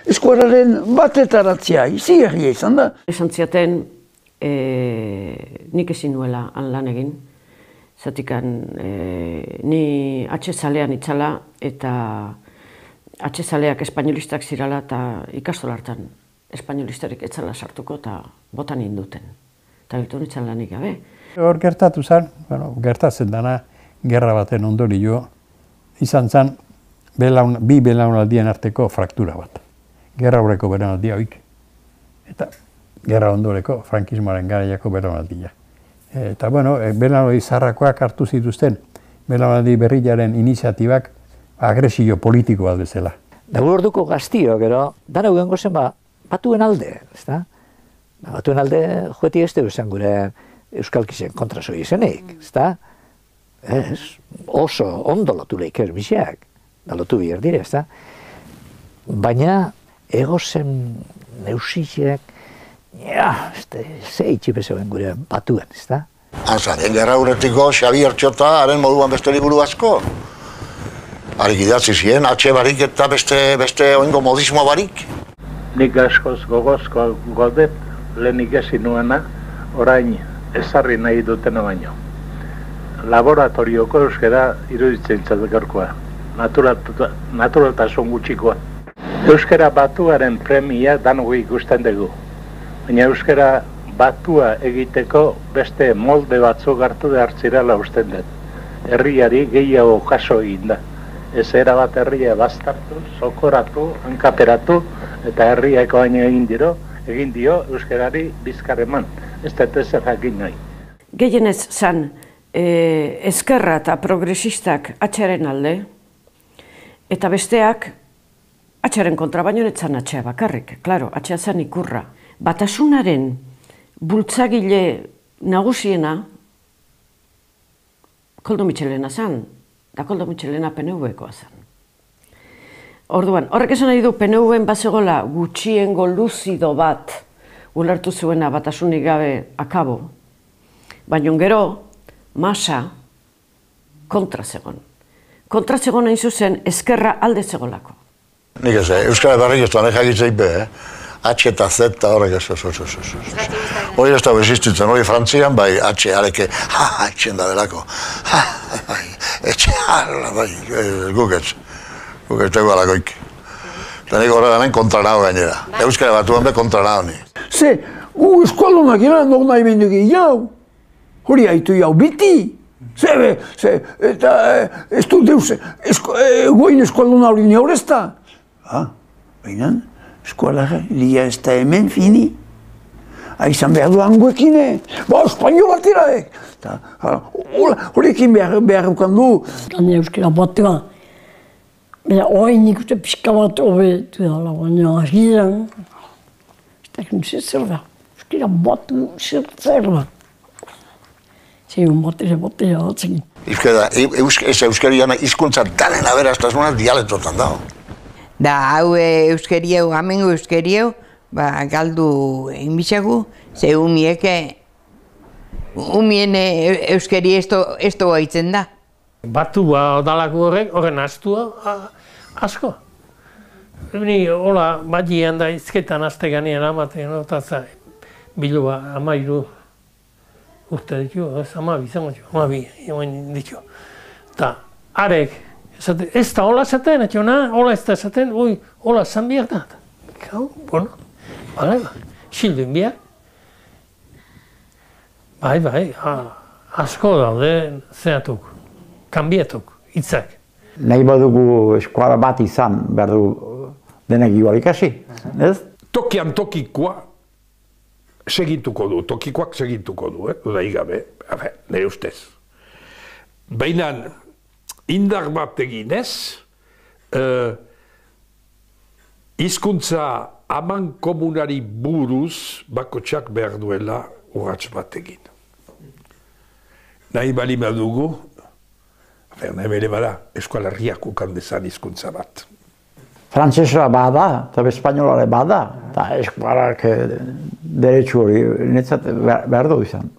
Eskualaren batetaratzea, izigarria izan da. Esan ziaten, nik ezin nuela lan egin. Zatikan, ni atxezalean itzala eta atxezaleak espainolistak zirala eta ikastola hartan espainolistarik etzala sartuko eta botan induten. Eta biltu nintzen lanik gabe. Hor gertatu zen, gertatzen dana, gerra baten ondorio, izan zen bi belaunaldien arteko fraktura bat. Gerra horreko belaunaldia hoik. Eta gerra ondoreko frankismoaren garaiako belaunaldia. Eta belaunaldi zaharrakoak hartu zituzten belaunaldi berriaren iniziatibak agresio politiko bat bezala. Dago orduko gaztio, gero, dara ugengo zen batuen alde, ezta? Batuen alde joetik ez dugu zen gure euskalkisen kontraso izenik, ezta? Oso ondo lotu lehik biziak, da lotu bihar dire, ezta? Baina, ego zen neusiak, ze itxipezoen gure batuen, ezta? Anzaren gerra urretiko Xabier Txota haren moduan beste liburu asko. Harik idatzi ziren, atxe barik eta beste oingo modismo barik. Nik askoz gogozko godet lehenik ezin nuena, orain ezarri nahi dutena baino. Laboratorioko euskara iruditzen gaurkoa, naturaltasun gutxikoa. Euskara batuaren premia danugu ikusten dugu, baina euskara batua egiteko beste molde batzuk hartu behar zirela usten dut. Herriari gehiago jaso egin da. Ez erabat herria bastartu, sokoratu, hankaperatu, eta herriako baino egin dio euskarari bizkar eman. Ez dut ezer jakin nahi. Gehienez zan, ezkerra eta progresistak atxaren alde, eta besteak atxaren kontra baino netzan atxea bakarrik. Klaro, atxea zan ikurra. Batasunaren bultzagile nagusiena Koldo Mitxelena zan, da Koldo Mitxelena PNV-koa zen. Orduan, horrek esan nahi du PNV-en bazegola gutxiengo luzido bat ulertu zuena batasunik gabe akabo, baina gero masa kontra zegon. Kontra zegon hain zuzen ezkerra alde zegolako. Nik ez, Euskara Barrik ez duan ejakitzeik be, H eta Z eta horrek ez. Hori ez da bezistutzen, hori Frantzian bai H areke, etxen da belako. Etxe harla bai, guketz tegu alakoik. Eta nik horreganen kontra nago gainera. Euskara Batuen be kontra nago ni. Ze, gu eskualdunak iran nog nahi benduki jau. Hori haitu jau biti. Eta ez dut deus, goin eskualduna hori ni horrezta. Baina, eskualara, lia ez da hemen fini. Aizan behar du hangoekine, espainola tiraek. Horrekin behar eukandu. Gane euskara batua. Baina oain ikuste pixka bat hobetu dala, baina agiran. Ez da egin zer da, euskara batu zer da. Zegoen batera batzen. Ez euskariana hizkuntza danen aberastasuna dialektotan dago. Da hau euskariau, amengo euskariau, galdu inbitzagu, ze umien euskari ez doa itzen da. Batua odalako horren astua asko. Ni hola badian da izketan azte ganean amaten, eta bilua amairu urte ditu, amabi ditu. Eta arek, ez da hola zaten, hola ez da zaten, hola zan behar da. Bueno, xildun behar. Bai, asko daude zehatuk, kanbietuk, hitzak. Nahi badugu eskuala bat izan, behar du denek igual ikasi, ez? Tokian tokikoa segituko du, tokikoak segituko du, da igabe, nire ustez. Baina indar bat eginez, hizkuntza aman komunari buruz bakotxak behar duela urratz bat egin. Nahi bali badugu, nahi bere bada, Euskal Herriak ukan dezan hizkuntza bat. Frantzesera bada, eta espainolare bada, eta eskualak deretsu hori netzat behar du izan.